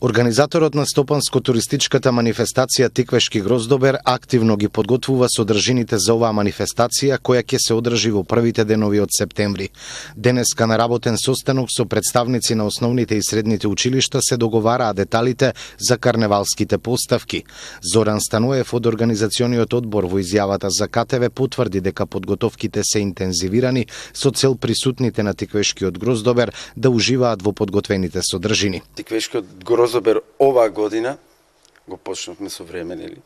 Организаторот на стопанско-туристичката манифестација Тиквешки гроздобер активно ги подготвува содржините за оваа манифестација која ќе се одржи во првите денови од септември. Денеска на работен состанок со представници на основните и средните училишта се договараа деталите за карневалските поставки. Зоран Станоев од организациониот одбор во изјавата за КТВ потврди дека подготовките се интензивирани со цел присутните на Тиквешкиот гроздобер да уживаат во подготвените содржини. Тиквешкиот гроздобер оваа година го почнавме со време, нели?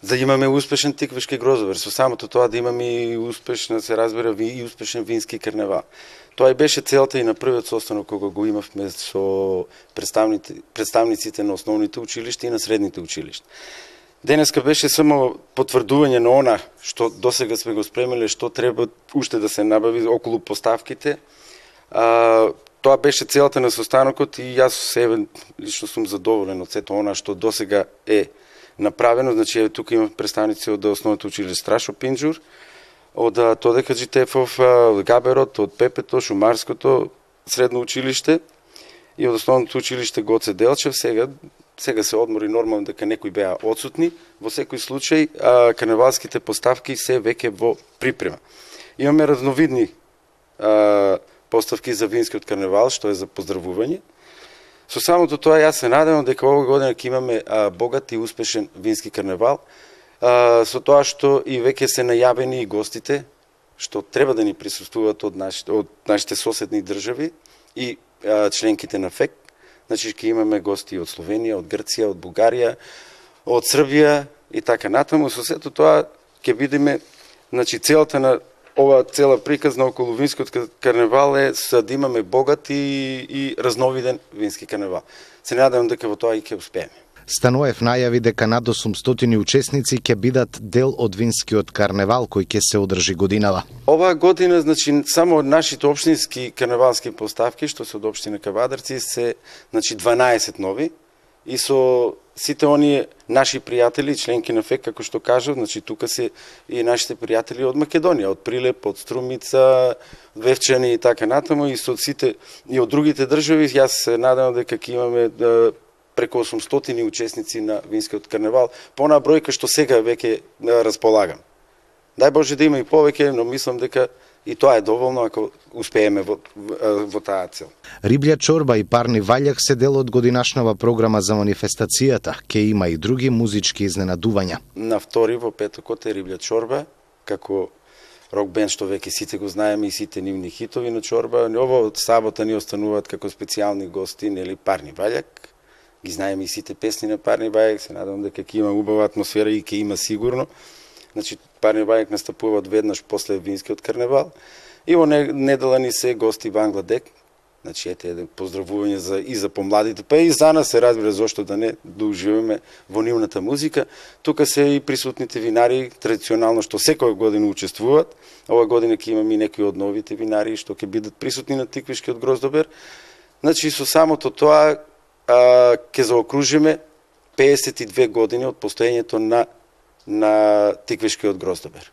За да имаме успешен Тиквешки гроздобер, со самото тоа да имаме и успешна, се разбира, и успешен вински карневал. Тоа и беше целта и на првиот состанок кога го имавме со представниците на основните училишта и на средните училишта. Денеска беше само потврдување на она што досега сме го спремиле, што треба уште да се набави околу поставките. Тоа беше целта на состанокот и јас себе лично сум задоволен од сето она што досега е направено. Значи, тука има представници од основното училиште Страшо Пинџур, од Тодека Джитефов, Габерот, од Пепето, Шумарското средно училиште и од основното училиште Гоце Делчев. Сега се одмори, нормално дека некои беа отсутни. Во секој случај, карневалските поставки се веќе во припрема. Имаме разновидни поставки за винскиот карневал, што е за поздравување. Со самото тоа јас се надевам дека оваа година ќе имаме богат и успешен вински карневал, со тоа што и веќе се најавени и гостите што треба да ни присуствуваат од нашите соседни држави и членките на ФЕК. Значи ќе имаме гости од Словенија, од Грција, од Бугарија, од Србија и така натаму. Со сето тоа ќе видиме, значи целата на ова цела приказна околу винскиот карневал е да имаме богат и разновиден вински карневал. Се надевам дека во тоа и ќе успееме. Станоев најави дека над 800 учесници ќе бидат дел од винскиот карневал кој ќе се одржи годинава. Оваа година, значи, само од нашите општински карневалски поставки, што се од општина Кавадарци, се 12 нови и со сите оние наши пријатели, членки на ФЕК, како што кажав, значи тука се и нашите пријатели од Македонија, од Прилеп, од Струмица, Вевчани и така натаму, и со сите и од другите држави. Јас се надевам дека ќе имаме преку 800 учесници на винскиот карневал, по онаа бројка што сега веќе располагам. Дај Боже да има и повеќе, но мислам дека и тоа е доволно ако успееме во таа цел. Риблја чорба и парни ваљак се дел од годинашнава програма за манифестацијата. Ке има и други музички изненадувања. На втори во петокот е Риблја чорба, како рок бенд што веќе сите го знаеме и сите нивни хитови на чорба. Ово од сабота ни остануваат како специјални гости, нели, парни ваљак. Ги знаеме и сите песни на парни ваљак, се надам дека ќе има убава атмосфера и ќе има сигурно. Значи, парни вајак настапуваат веднаш после винскиот карневал. И во недела ни се гости Бангладек. Значи, ете еден поздравување и за помладите, па и за нас се разбира зошто да не уживаме во нивната музика. Тука се и присутните винари, традиционално што секоја година учествуваат. Ова година ќе имаме и некои од новите винари што ќе бидат присутни на Тиквешкиот гроздобер. Значи, со самото тоа ќе заокружиме 52 години од постоењето на Тиквешкиот гроздобер.